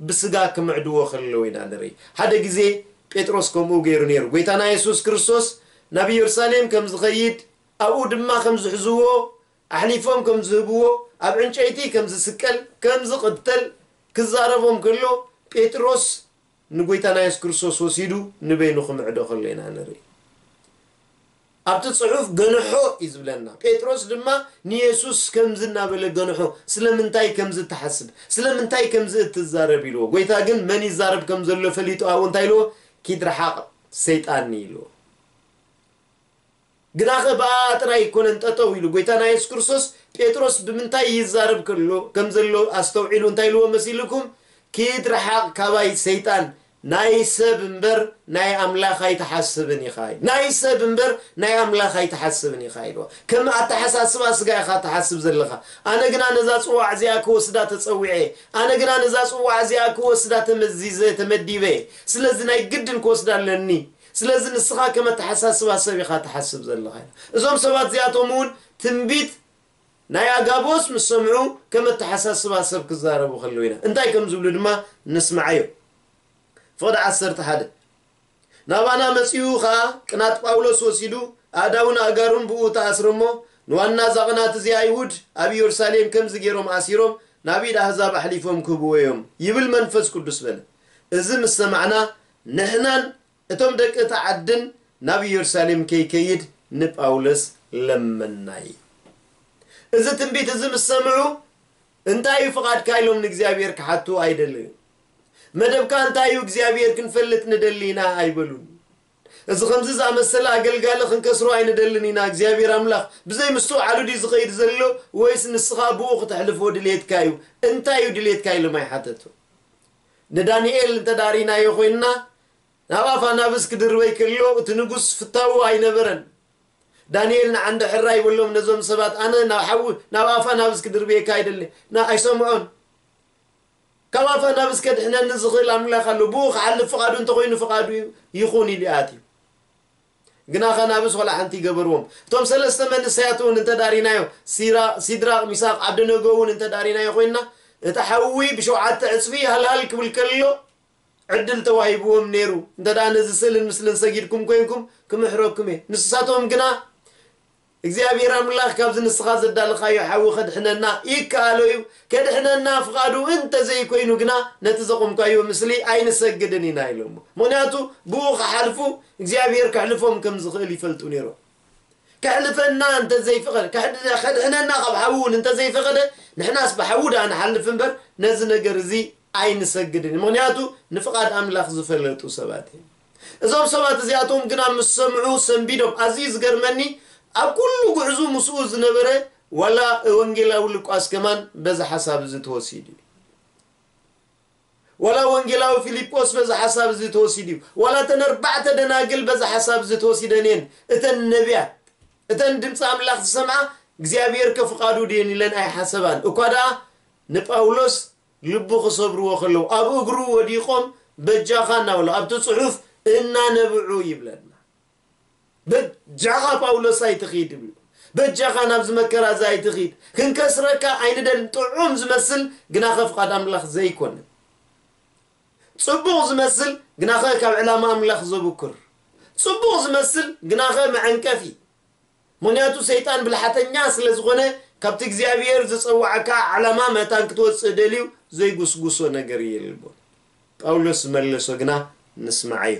ብስጋ ክምዕድዎ ከለዉ ኢና ንርኢ። ሓደ ግዜ ጴጥሮስ ከምኡ ገይሩ ነይሩ። ጎይታና የሱስ ክርስቶስ ናብ ኢየሩሳሌም ከም ዝኸይድ፣ ኣብኡ ድማ ከም ዝሕዝዎ፣ ኣሕሊፎም ከም ዝህብዎ፣ ኣብ ዕንጨይቲ ከም ዝስቀል፣ ከም ዝቕተል ክዛረቦም ከሎ፣ ጴጥሮስ ንጎይታና የሱስ ክርስቶስ ወሲዱ ንበይኑ ክምዕዶ ከሎ ኢና ንርኢ። ኣብቲ ጽሑፍ ገንሖ እዩ ዝብለና። ጴጥሮስ ድማ ንየሱስ ከምዚ እናበለ ገንሖ፣ ስለምንታይ ከምዚ ትሓስብ? ስለምንታይ ከምዚ እትዛረብ? ኢልዎ። ጎይታ ግን መን ይዛረብ ከም ዘሎ ፈሊጡ ኣብኡ እንታይ ኢልዎ? ኪድ ረሓቕ ሰይጣን ኢልዎ። ግናኸ ብኣኣ ጥራይ ኣይኮነን ጠጠው ኢሉ። ጎይታና የሱስ ክርስቶስ ጴጥሮስ ብምንታይ ይዛረብ ከሎ፣ ከም ዘሎ ኣስተውዒሉ እንታይ ኢልዎ መሲልኩም? ኪድ ረሓቕ ካባይ ሰይጣን፣ ናይ ሰብ እምበር ናይ ኣምላኽ ኣይትሓስብን ኢኻ። ናይ ሰብ እምበር ናይ ኣምላኽ ኣይትሓስብን ኢኻ ኢልዎ። ከም ኣተሓሳስባ ስጋ ኢኻ ትሓስብ ዘለኻ። ኣነ ግና ነዛ ጽዋዕ እዚኣ ክወስዳ ተጸዊዐ። ኣነ ግና ነዛ ጽዋዕ እዚኣ ክወስዳ ተመዚዘ፣ ተመዲበ። ስለዚ ናይ ግድን ክወስዳ ኣለኒ። ስለዚ ንስኻ ከም ኣተሓሳስባ ሰብ ኢኻ ትሓስብ ዘለኻ። እዞም ሰባት እዚኣቶም እውን ትንቢት ናይ ኣጋቦስ ምስ ሰምዑ ከም ኣተሓሳስባ ሰብ ክዛረቡ ከለዉ ኢና። እንታይ ከም ዝብሉ ድማ ንስምዓዮ። ፍቕዲ ዓሰርተ ሓደ። ናባና መጺኡ ኸኣ ቅናት ጳውሎስ ወሲዱ፣ ኣእዳውን ኣእጋሩን ብኡ ተኣስረ እሞ፣ ንዋና እዛ ቅናት እዚኣ ኣይሁድ ኣብ ኢየሩሳሌም ከምዚ ገይሮም ኣሲሮም፣ ናብ ኢድ ኣህዛብ ኣሕሊፎም ክህብዎ እዮም፣ ይብል መንፈስ ቅዱስ በለ። እዚ ምስ ሰማዕና፣ ንሕናን እቶም ደቂ እታ ዓድን ናብ ኢየሩሳሌም ከይከይድ ንጳውሎስ ለመናይ። እዚ ትንቢት እዚ ምስ ሰምዑ፣ እንታይ እዩ ፍቓድካ ኢሎም ንእግዚኣብሔር ክሓቱ ኣይደለዩን። መደብካ እንታይ እዩ እግዚኣብሔር ክንፈልጥ ንደሊ ኢና ኣይበሉን። እዚ ከምዚ ዝኣመሰለ ኣገልጋሊ ክንከስሮ ኣይንደልን ኢና። እግዚኣብሔር ኣምላኽ ብዘይ ምስትውዓሉ ድዩ ዝኸይድ ዘሎ ወይስ ንስኻ ብኡ ክተሕልፎ ድልየትካ እዩ? እንታይ እዩ ድልየትካ ኢሎም ኣይሓተቱ። ንዳንኤል እንተዳሪናዮ ኮይንና ናብ ኣፍ ኣናብስ ክድርበይ ከሎ እቲ ንጉስ ፍታዉ ኣይነበረን። ዳንኤል ንዓንዲ ሕራይ በሎም ነዞም ሰባት፣ ኣነ ናብ ሓዊ ናብ ኣፍ ኣናብስ ክድርብየካ ኣይደለ ና ኣይሰምዖን። ካብ ኣፍ ኣናብስ ከድሕነኒ ዝኽእል ኣምላኽ ኣሎ፣ ብኡ ክሓልፍ ፍቓዱ እንተኾይኑ ፍቓዱ ይኹን ኢሉ ኣትዩ። ግና ከናብስ ወላ ሓንቲ ይገበርዎም። እቶም ሰለስተ መንእሰያት እውን እንተዳሪናዮ፣ ሲራ-፣ ሲድራቕ፣ ሚሳቕ፣ ዓብደነጎ እውን እንተዳሪናዮ ኮይንና፣ እቲ ሓዊ ብሸውዓተ ዕጽፊ ሃልሃል ክብል ከሎ ዕድል ተዋሂብዎም ነይሩ። እንተ ደኣ ነዚ ስእልን ምስልን ሰጊድኩም ኮይንኩም ክምሕረኩም እየ። ንስሳቶም ግና እግዚኣብሔር ኣምላኽ ካብዚ ንስኻ ዘዳለኻዮ ሓዊ ከድሕነና ይከኣሎ እዩ። ከድሕነና ፍቓዱ እንተ ዘይኮይኑ ግና ነቲ ዘቖምካዮ ምስሊ ኣይንሰግድን ኢና ኢሎሞ። ምኽንያቱ ብኡ ክሓልፉ እግዚኣብሔር ከሕልፎም ከም ዝኽእል ይፈልጡ ነይሮም። ከሕልፈና እንተ ዘይፈቐደ፣ ከሕድ-፣ ከድሕነና ካብ ሓዊ እውን እንተ ዘይፈቐደ፣ ንሕናስ ብሓዊ ደኣ ንሓልፍ እምበር ነዚ ነገር እዚ ኣይንሰግድን። ምኽንያቱ ንፍቓድ ኣምላኽ ዝፈለጡ ሰባት እዮም። እዞም ሰባት እዚኣቶም ግና ምስ ሰምዑ ሰንቢዶም። ኣዝዩ ዝገርመኒ፣ ኣብ ኩሉ ጉዕዙ ምስኡ ዝነበረ ዋላ ወንጌላዊ ሉቃስ ከማን በዚ ሓሳብ እዚ ተወሲዱ እዩ። ዋላ ወንጌላዊ ፊልጶስ በዚ ሓሳብ እዚ ተወሲዱ እዩ። ዋላ እተን ኣርባዕተ ደናግል በዚ ሓሳብ እዚ ተወሲደን እየን። እተን ነቢያት፣ እተን ድምፂ ኣምላኽ ዝሰምዓ እግዚኣብሔር ከፍቓዱ ድየን ኢለን ኣይሓሰባን። እኳ ደኣ ንጳውሎስ ልቡ ክሰብርዎ ከለዉ ኣብ እግሩ ወዲቖም በጃኻ እናበሉ ኣብቲ ጽሑፍ እናነብዑ ይብለና። በጃኻ ጳውሎስ ኣይትኺድ ይብሉ። በጃኻ ናብዚ መከራ እዚ ኣይትኺድ። ክንከስረካ ኣይንደልን። ጥዑም ዝመስል ግናኸ ፍቓድ ኣምላኽ ዘይኮነ። ጽቡቕ ዝመስል ግናኸ ካብ ዕላማ ኣምላኽ ዘብኩር። ጽቡቕ ዝመስል ግናኸ መዐንቀፊ። ምኽንያቱ ሰይጣን ብልሓተኛ ስለ ዝኾነ ካብቲ እግዚኣብሔር ዝጸዋዓካ ዓላማ መታን ክትወጽእ ደልዩ ዘይጉስጉሶ ነገር የልቦን። ጳውሎስ ዝመለሶ ግና ንስማዓዮ።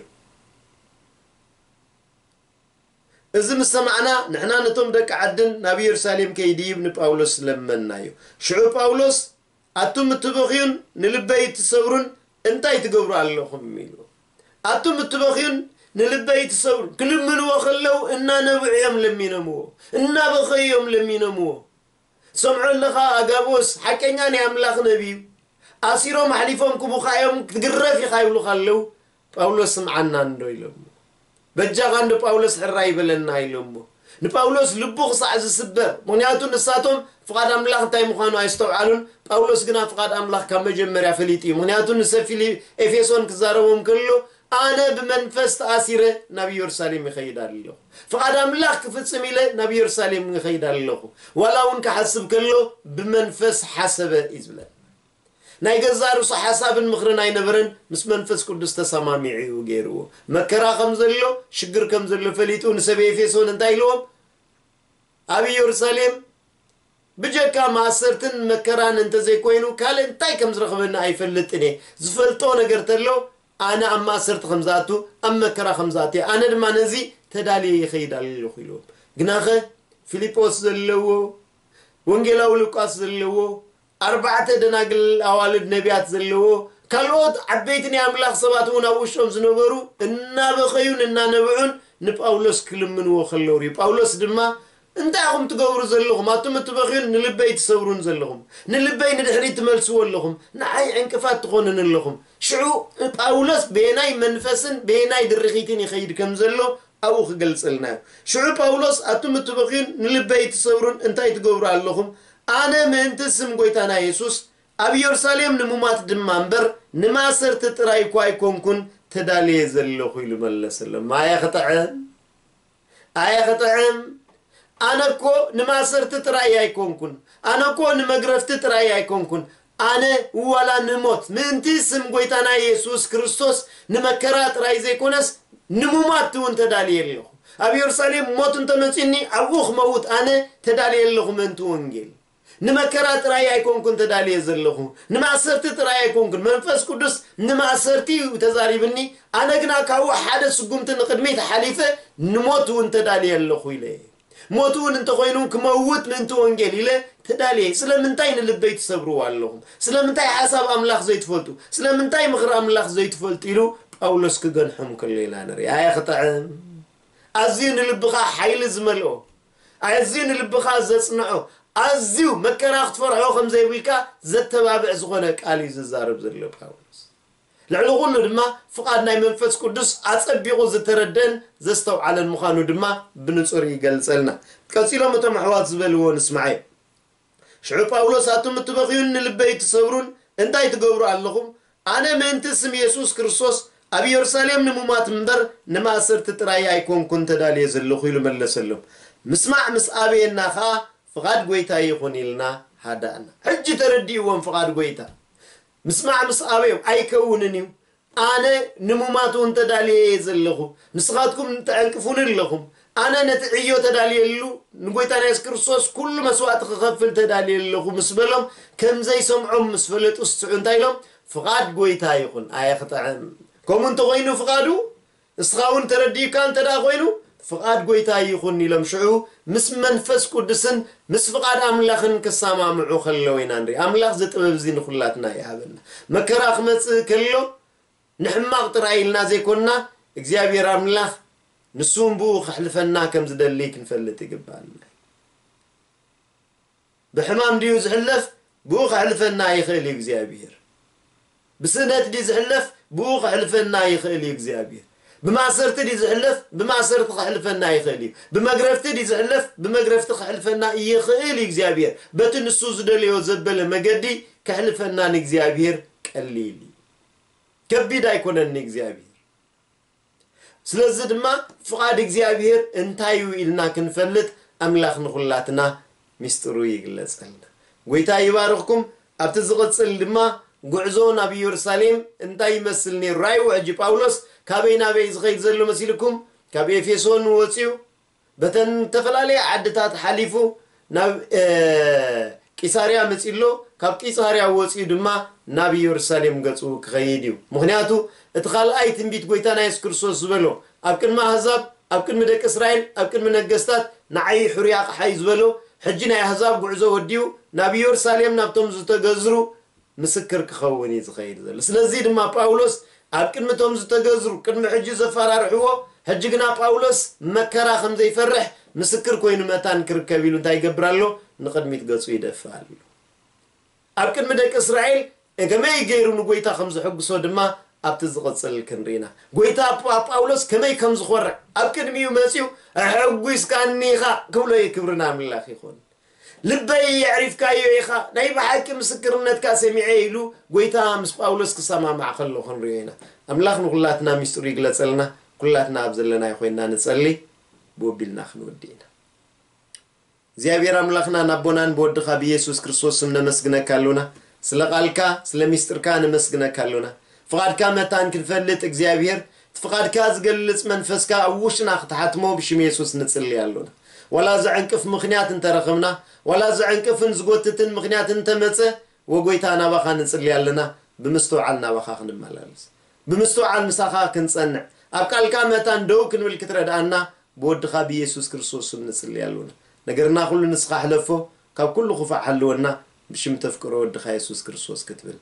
እዚ ምስ ሰማዕና ንሕና ነቶም ደቂ ዓድን ናብ ኢየሩሳሌም ከይድይብ ንጳውሎስ ለመናዮ። ሽዑ ጳውሎስ ኣቱም እትበኽዩን ንልበይ እትሰብሩን እንታይ ትገብሩ ኣለኹም ኢሉ። ኣቱም እትበኽዩን ንልበይ እትሰብሩን ክልምንዎ ከለዉ እናነብዑ እዮም ለሚኖምዎ፣ እናበኸዩ እዮም ለሚኖምዎ። ሰምዖ ኣለኻ ኣጋቦስ ሓቀኛ ናይ ኣምላኽ ነቢዩ ኣሲሮም ኣሕሊፎም ክቡኻ እዮም ክትግረፍ ኢኻ ይብሉኻ ኣለዉ። ጳውሎስ ስምዓና እንዶ ኢሎሞ። በጃኻ እንዶ ጳውሎስ ሕራይ በለና ኢሎሞ። ንጳውሎስ ልቡ ክሳዕ ዝስበር፣ ምኽንያቱ ንሳቶም ፍቓድ ኣምላኽ እንታይ ምዃኑ ኣይስተውዓሉን። ጳውሎስ ግና ፍቓድ ኣምላኽ ካብ መጀመርያ ፈሊጡ እዩ። ምኽንያቱ ንሰብ ፊሊ-፣ ኤፌሶን ክዛረቦም ከሎ ኣነ ብመንፈስ ተኣሲረ ናብ ኢየሩሳሌም ይኸይድ ኣለኹ። ፍቓድ ኣምላኽ ክፍጽም ኢለ ናብ ኢየሩሳሌም ይኸይድ ኣለኹ። ዋላ እውን ክሓስብ ከሎ ብመንፈስ ሓሰበ እዩ ዝብለና። ናይ ገዛ ርእሱ ሓሳብን ምኽርን ኣይነበረን፣ ምስ መንፈስ ቅዱስ ተሰማሚዑ እዩ ገይርዎ። መከራ ከም ዘሎ፣ ሽግር ከም ዘሎ ፈሊጡ ንሰብ ኤፌሶን እንታይ ኢልዎም? ኣብ ኢየሩሳሌም ብጀካ ማእሰርትን መከራን እንተዘይኮይኑ ካልእ እንታይ ከም ዝረኽበኒ ኣይፈልጥን እየ። ዝፈልጦ ነገር ተሎ ኣነ ኣብ ማእሰርቲ ከም ዝኣቱ፣ ኣብ መከራ ከም ዝኣቱ እየ። ኣነ ድማ ነዚ ተዳልየ ይኸይድ ኣለኹ ኢልዎም። ግናኸ ፊልጶስ ዘለዎ፣ ወንጌላዊ ሉቃስ ዘለዎ፣ ኣርባዕተ ደናግል ኣዋልድ ነቢያት ዘለዎ፣ ካልኦት ዓበይቲ ናይ ኣምላኽ ሰባት እውን ኣብ ውሽጦም ዝነበሩ እናበኸዩን እናነብዑን ንጳውሎስ ክልምንዎ ከለዉ ርእዩ። ጳውሎስ ድማ እንታይ ኢኹም ትገብሩ ዘለኹም? ኣቱም እትበኽዩን ንልበይ ትሰብሩን ዘለኹም፣ ንልበይ ንድሕሪት ትመልስዎ ኣለኹም፣ ንዓይ ዕንቅፋት ትኾኑኒ ኣለኹም። ሽዑ ጳውሎስ በየናይ መንፈስን በየናይ ድርኺትን ይኸይድ ከም ዘሎ ኣብኡ ክገልጸልና እዩ። ሽዑ ጳውሎስ ኣቱም እትበኽዩን ንልበይ ትሰብሩን እንታይ ትገብሩ ኣለኹም? ኣነ ምእንቲ ስም ጐይታና የሱስ ኣብ ኢየሩሳሌም ንሙማት ድማ እምበር ንማእሰርቲ ጥራይ እኳ ኣይኮንኩን ተዳልየ ዘለኹ ኢሉ መለሰሎም። ኣየ ክጥዕም! ኣየ ክጥዕም! ኣነ እኮ ንማእሰርቲ ጥራይ ኣይኮንኩን፣ ኣነ እኮ ንመግረፍቲ ጥራይ ኣይኮንኩን፣ ኣነ ዋላ ንሞት ምእንቲ ስም ጐይታና የሱስ ክርስቶስ ንመከራ ጥራይ ዘይኮነስ ንሙማት እውን ተዳልየ ኣለኹ። ኣብ ኢየሩሳሌም ሞት እንተመጺኒ ኣብኡ ክመውት ኣነ ተዳልየ ኣለኹ ምእንቲ ወንጌል። ንመከራ ጥራይ ኣይኮንኩን ተዳልየ ዘለኹ፣ ንማእሰርቲ ጥራይ ኣይኮንኩን። መንፈስ ቅዱስ ንማእሰርቲ እዩ ተዛሪብኒ፣ ኣነ ግና ካብኡ ሓደ ስጉምቲ ንቕድሚት ሓሊፈ ንሞት እውን ተዳልየ ኣለኹ ኢለ። ሞት እውን እንተኾይኑ ክመውት ምእንቲ ወንጌል ኢለ ተዳልየ። ስለምንታይ ንልበይ ትሰብርዎ ኣለኹም? ስለምንታይ ሓሳብ ኣምላኽ ዘይትፈልጡ? ስለምንታይ ምኽሪ ኣምላኽ ዘይትፈልጡ? ኢሉ ጳውሎስ ክገንሖም ከሎ ኢና ንርኢ። ኣየ ክጥዕም! ኣዝዩ ንልብኻ ሓይሊ ዝመልኦ፣ ኣዝዩ ንልብኻ ዘጽንዖ፣ ኣዝዩ መከራ ክትፈርሖ ከም ዘይብልካ ዘተባብዕ ዝኾነ ቃል እዩ ዝዛረብ ዘሎ ጳውሎስ። ልዕሊ ኩሉ ድማ ፍቓድ ናይ መንፈስ ቅዱስ ኣጸቢቑ ዝተረደን ዘስተውዓለን ምዃኑ ድማ ብንጹር ይገልጸልና። ቀጺሎም እቶም ኣሕዋት ዝበልዎ ንስማዓዮ። ሽዑ ጳውሎስ ኣቱም እትበኽዩን ንልበይ እትሰብሩን እንታይ ትገብሩ ኣለኹም? ኣነ ምእንቲ ስም የሱስ ክርስቶስ ኣብ ኢየሩሳሌም ንሙማት እምበር ንማእሰርቲ ጥራይ ኣይኮንኩን ተዳልየ ዘለኹ ኢሉ መለሰሎም። ምስማዕ ምስ ኣበየና ኸኣ ፍቓድ ጐይታ ይኹን ኢልና ሃዳእና። ሕጂ ተረዲእዎም ፍቓድ ጐይታ። ምስማዕ ምስ ኣበዮም ኣይከውንን እዩ። ኣነ ንሙማት እውን ተዳልየ እየ ዘለኹ፣ ንስኻትኩም ተዕንቅፉኒ ኣለኹም። ኣነ ነቲ ዕዮ ተዳልየሉ ንጎይታና የሱስ ክርስቶስ ኩሉ መስዋእቲ ክኸፍል ተዳልየ ኣለኹ ምስ በሎም፣ ከም ዘይሰምዖም ምስ ፈለጡ ስዑ እንታይ ኢሎም? ፍቓድ ጎይታ ይኹን። ኣየ ክጥዕም! ከምኡ እንተኾይኑ ፍቓዱ፣ ንስኻ እውን ተረዲእካ እንተ ደኣ ኮይኑ፣ ፍቓድ ጎይታ ይኹን ኢሎም ሽዑ ምስ መንፈስ ቅዱስን ምስ ፍቓድ ኣምላኽን ክሰማምዑ ከለዉ ኢና ንርኢ። ኣምላኽ እዚ ጥበብ እዚ ንኹላትና ይሃበና። መከራ ክመጽእ ከሎ ንሕማቕ ጥራይ ኢልና ዘይኮንና፣ እግዚኣብሔር ኣምላኽ ንሱ እውን ብኡ ከሕልፈና ከም ዝደሊ ክንፈልጥ ይግባኣና። ብሕማም ድዩ ዝሕለፍ? ብኡ ከሕልፈና ይኽእል እዩ እግዚኣብሔር። ብስእነት ድዩ ዝሕለፍ? ብኡ ከሕልፈና ይኽእል እዩ እግዚኣብሔር። ብማእሰርቲ ድዩ ዝሕለፍ? ብማእሰርቲ ከሕልፈና ይኽእል እዩ። ብመግረፍቲ ድዩ ዝሕለፍ? ብመግረፍቲ ከሕልፈና ይኽእል እዩ እግዚኣብሔር። በቲ ንሱ ዝደለዮ ዘበለ መገዲ ከሕልፈና ንእግዚኣብሔር ቀሊል እዩ። ከቢድ ኣይኮነን ንእግዚኣብሔር። ስለዚ ድማ ፍቓድ እግዚኣብሔር እንታይ እዩ ኢልና ክንፈልጥ ኣምላኽ ንኹላትና ሚስጥሩ ይግለጸልና። ጎይታ ይባርኽኩም። ኣብቲ ዝቕጽል ድማ ጉዕዞ ናብ ኢየሩሳሌም እንታይ ይመስል ነይሩ? ራእይዎ ሕጂ ጳውሎስ ካበይ ናበይ ዝኸይድ ዘሎ መሲልኩም? ካብ ኤፌሶን ወፅዩ በተን ዝተፈላለየ ዓድታት ሓሊፉ ናብ ቂሳርያ መፂ ኣሎ። ካብ ቂሳርያ ወፂኡ ድማ ናብ ኢየሩሳሌም ገፁ ክኸይድ እዩ። ምክንያቱ እቲ ካልኣይ ትንቢት ጎይታና የሱስ ክርስቶስ ዝበሎ ኣብ ቅድሚ ኣህዛብ፣ ኣብ ቅድሚ ደቂ እስራኤል፣ ኣብ ቅድሚ ነገስታት ንዓይ ሕሩይ ኣቕሓ እዩ ዝበሎ። ሕጂ ናይ ኣህዛብ ጉዕዞ ወዲኡ ናብ ኢየሩሳሌም ናብቶም ዝተገዝሩ ምስክር ክኸውን እዩ ዝኸይድ ዘሎ። ስለዚ ድማ ጳውሎስ ኣብ ቅድሚ እቶም ዝተገዝሩ ቅድሚ ሕጂ ዘፈራርሕዎ፣ ሕጂ ግና ጳውሎስ መከራ ከም ዘይፈርሕ ምስክር ኮይኑ መታን ክርከብ ኢሉ እንታይ ይገብር ኣሎ? ንቕድሚት ገጹ ይደፍእ ኣሎ። ኣብ ቅድሚ ደቂ እስራኤል ከመይ ገይሩ ንጎይታ ከም ዝሕግሶ ድማ ኣብቲ ዝቕጽል ክንርኢና። ጎይታ ጳውሎስ ከመይ ከም ዝኾርዕ ኣብ ቅድሚኡ መጺኡ ሕጉስካኒ ኢኻ ክብሎ እዩ። ክብሪ ንኣምላኽ ይኹን። ልበይ የዕሪፍካዮ ኢኻ፣ ናይ ብሓቂ ምስክርነትካ ሰሚዐ ኢሉ ጎይታ ምስ ጳውሎስ ክሰማማዕ ከሎ ክንሪኦ ኢና። ኣምላኽ ንኹላትና ሚስጥሩ ይግለጸልና። ኩላትና ኣብ ዘለናዮ ኮይንና ንጸሊ። ብኡ ኣቢልና ክንወዲ ኢና። እግዚኣብሔር ኣምላኽና ናቦናን ብወድኻ ብኢየሱስ ክርስቶስ ስም ነመስግነካ ኣሉና። ስለ ቃልካ ስለ ሚስጥርካ ነመስግነካ ኣሉና። ፍቓድካ መታን ክንፈልጥ እግዚኣብሔር እቲ ፍቓድካ ዝገልጽ መንፈስካ ኣብ ውሽጥና ክትሓትሞ ብሽም የሱስ ንጽሊ ኣሉና። ዋላ ዘዕንቅፍ ምኽንያት እንተረኽብና፣ ዋላ ዘዕንቅፍን ዝጎትትን ምኽንያት እንተመጸ፣ ወጎይታ ናባኻ ንጽሊ ኣለና። ብምስትውዓል ናባኻ ክንመላለስ፣ ብምስትውዓል ምሳኻ ክንጸንዕ፣ ኣብ ቃልካ መታን ደው ክንብል ክትረድኣና ብወድኻ ብኢየሱስ ክርስቶስ ስም ንጽሊ ኣሉና። ነገርና ኩሉ ንስኻ ሕለፎ፣ ካብ ኩሉ ክፉእ ሓልወና፣ ብሽም ተፍቅሮ ወድኻ የሱስ ክርስቶስ ክትብል።